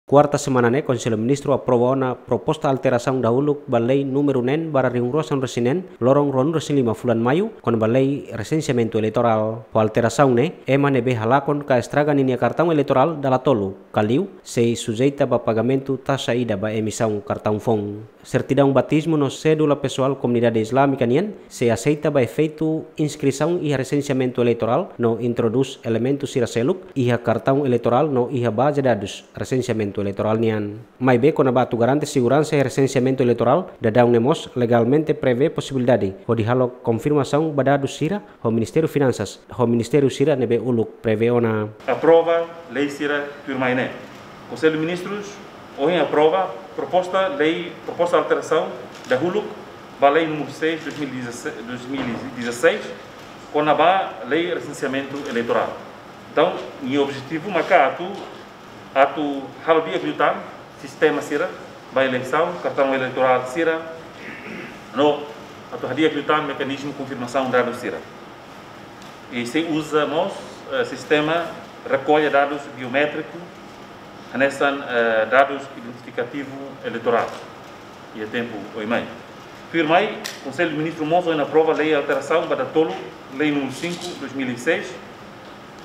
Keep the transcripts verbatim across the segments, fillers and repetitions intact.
Kuarta semana ne'e, Konsellu Ministru aprova ona proposta alterasaun dahuluk ba lei númeru neen barra rihun rua sanulu-resin-neen, loron ruanulu-resin-lima fulan Maiu, kona-ba lei resenseamentu eleitorál. Ho alterasaun ne'e, ema ne'ebé halakon ka estraga ninia kartaun eleitorál dala tolu, ka liu, sei sujeita ba pagamentu taxa ida ba emisaun kartaun foun. Sertidaun batizmu no sédula pesoál komunidade Islámika nian sei aseita ba efeitu inskrisaun iha resenseamentu eleitorál no introdús elementu sira seluk iha kartaun eleitorál no iha baze dadus resenseamentu eleitorál nian. Maibé kona-ba atu garante seguransa iha resenseamentu eleitorál, daudaun ne'e mós legalmente prevee posibilidade hodi halo konfirmasaun ba dadus sira ho Ministériu Finansas, ho ministériu sira ne'ebé uluk prevee ona. Aprova lei sira tuirmai ne'e. Konsellu Ministrus ohin aprova proposta lei, proposta alterasaun dahuluk ba lei númeru seis, dois mil e dezasseis, dois mil e dezasseis, kona-ba lei resenseamentu eleitorál. Entaun, nia objetivu maka atu, atu halo di'ak liután sistema sira ba eleisaun, kartaun eleitorál sira, no atu hadi'ak liután mekanizmu konfirmasaun dadus sira. I sei uza mós, eh, sistema rekolla dadus biométriku, hanesan, eh, dadus identifikativu eleitorál iha tempu oin mai. Tuirmai, Konsellu Ministru mós ohin aprova lei alterasaun ba datoluk lei númeru cinco, dois mil e seis,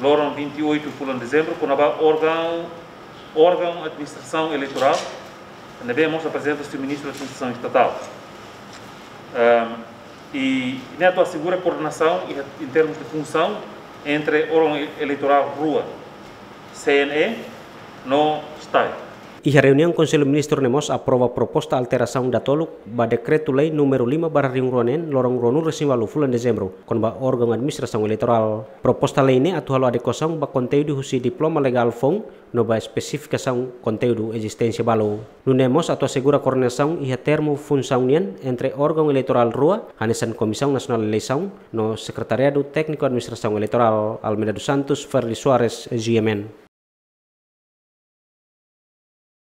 loron vinte e oito fulan dezembru, kona-ba órgaun, órgaun administrasaun eleitorál, ne'ebé mós aprezenta husi Ministru Administrasaun Estatál. Ehm, i ne'e atu asegura koordenasaun i, em termos de funsaun entre órgaun e-, eleitorál rua, C N E no STAE. Iha reuniaun, Konsellu Ministru ne'e mós aprova proposta alterasaun datoluk ba Dekretu-Lei númeru lima barra rihun rua neen, loron ruanulu-resin-ualu fulan dezembru, kona-ba órgaun administrasaun eleitorál. Proposta lei ne'e atu halo adekuasaun ba konteúdu husi diploma legál foun no ba espesifikasaun konteúdu ezisténsia balu. Nune'e mós atu asegura koordenasaun iha termu funsaun nian entre órgaun eleitorál rua, hanesan Komisaun Nasionál Eleisaun no Sekretariadu Tékniku Administrasaun Eleitorál, Almeida dos Santos, Ferdi Soares, G M N.